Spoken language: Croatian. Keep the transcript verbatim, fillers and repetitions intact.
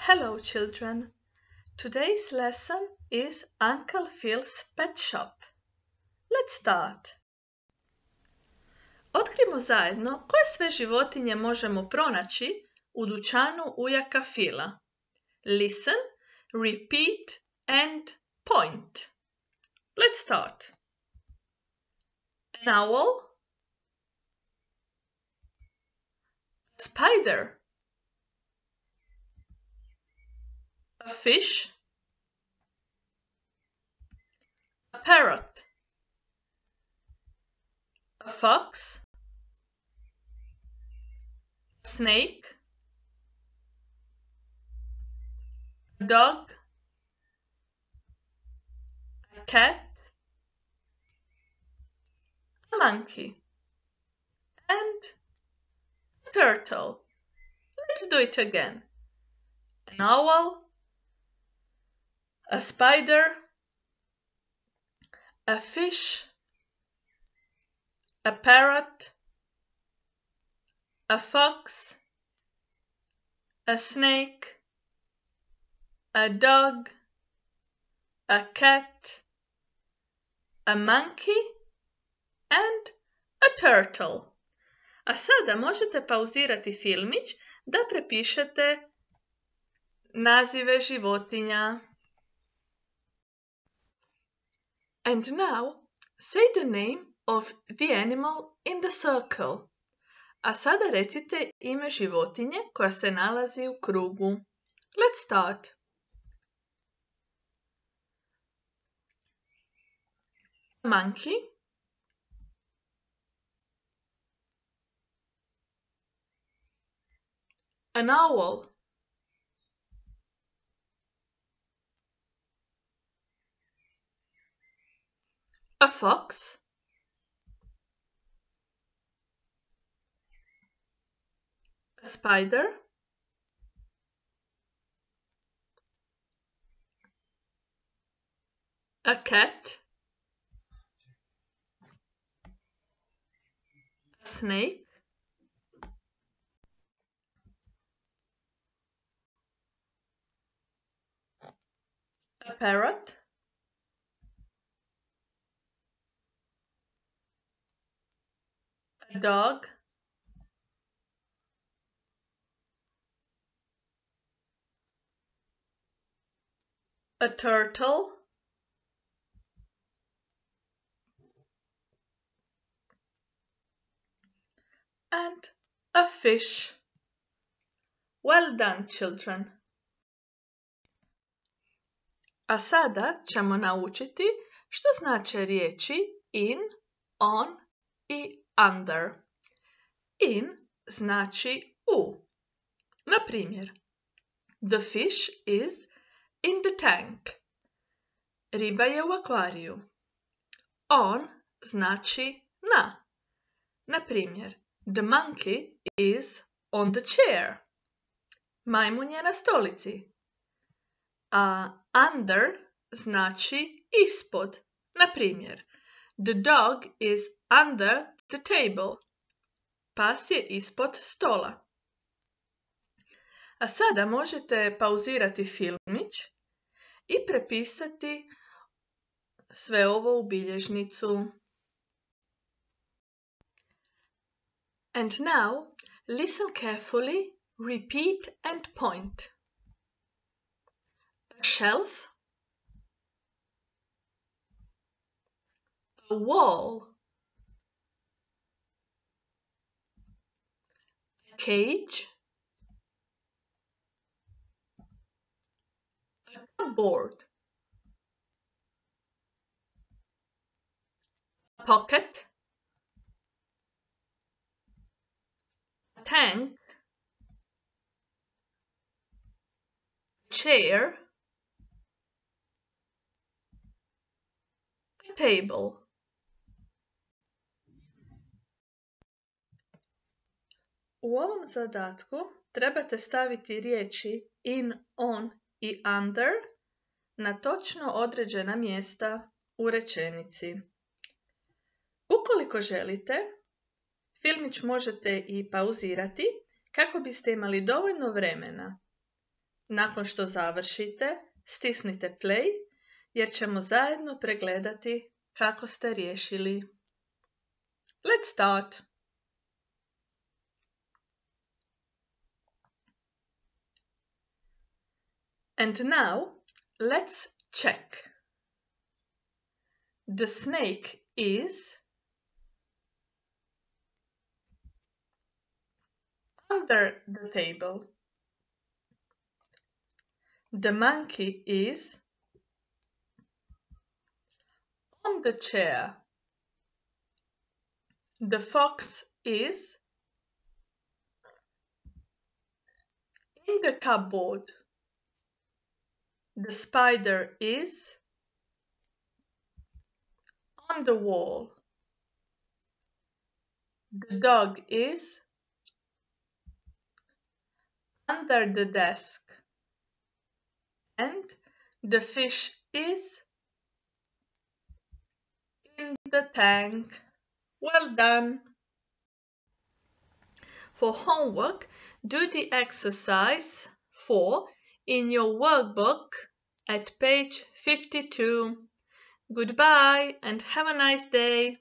Hello, children. Today's lesson is Uncle Phil's Pet Shop. Let's start. Otkrimo zajedno koje sve životinje možemo pronaći u dućanu ujaka Phila. Listen, repeat and point. Let's start. An owl, a spider, a fish, a parrot, a fox, a snake, a dog, a cat, a monkey, and a turtle. Let's do it again. An owl, a spider, a fish, a parrot, a fox, a snake, a dog, a cat, a monkey and a turtle. A sada možete pauzirati filmić da prepišete nazive životinja. And now, say the name of the animal in the circle. A sada recite ime životinje koja se nalazi u krugu. Let's start. Monkey, an owl, a fox, a spider, a cat, a snake, a parrot, a dog, a turtle, and a fish. Well done, children. A sada ćemo naučiti što znače riječi in, on i under. In znači u. Na primjer, the fish is in the tank. Riba je u akvariju. On znači na. Na primjer, the monkey is on the chair. Majmun je na stolici. A under znači ispod. Na primjer, the dog is under the table. Pas je ispod stola. A sada možete pauzirati filmić i prepisati sve ovo u bilježnicu. And now, listen carefully, repeat and point. A shelf, a wall, a cage, a cupboard, a pocket, a tank, a chair, a table. U ovom zadatku trebate staviti riječi in, on i under na točno određena mjesta u rečenici. Ukoliko želite, filmić možete i pauzirati kako biste imali dovoljno vremena Nakon što završite, stisnite play jer ćemo zajedno pregledati kako ste riješili. Let's start! And now, let's check. The snake is under the table. The monkey is on the chair. The fox is in the cupboard. The spider is on the wall. The dog is under the desk. And the fish is in the tank. Well done! For homework, do the exercise four in your workbook at page fifty-two. Goodbye and have a nice day!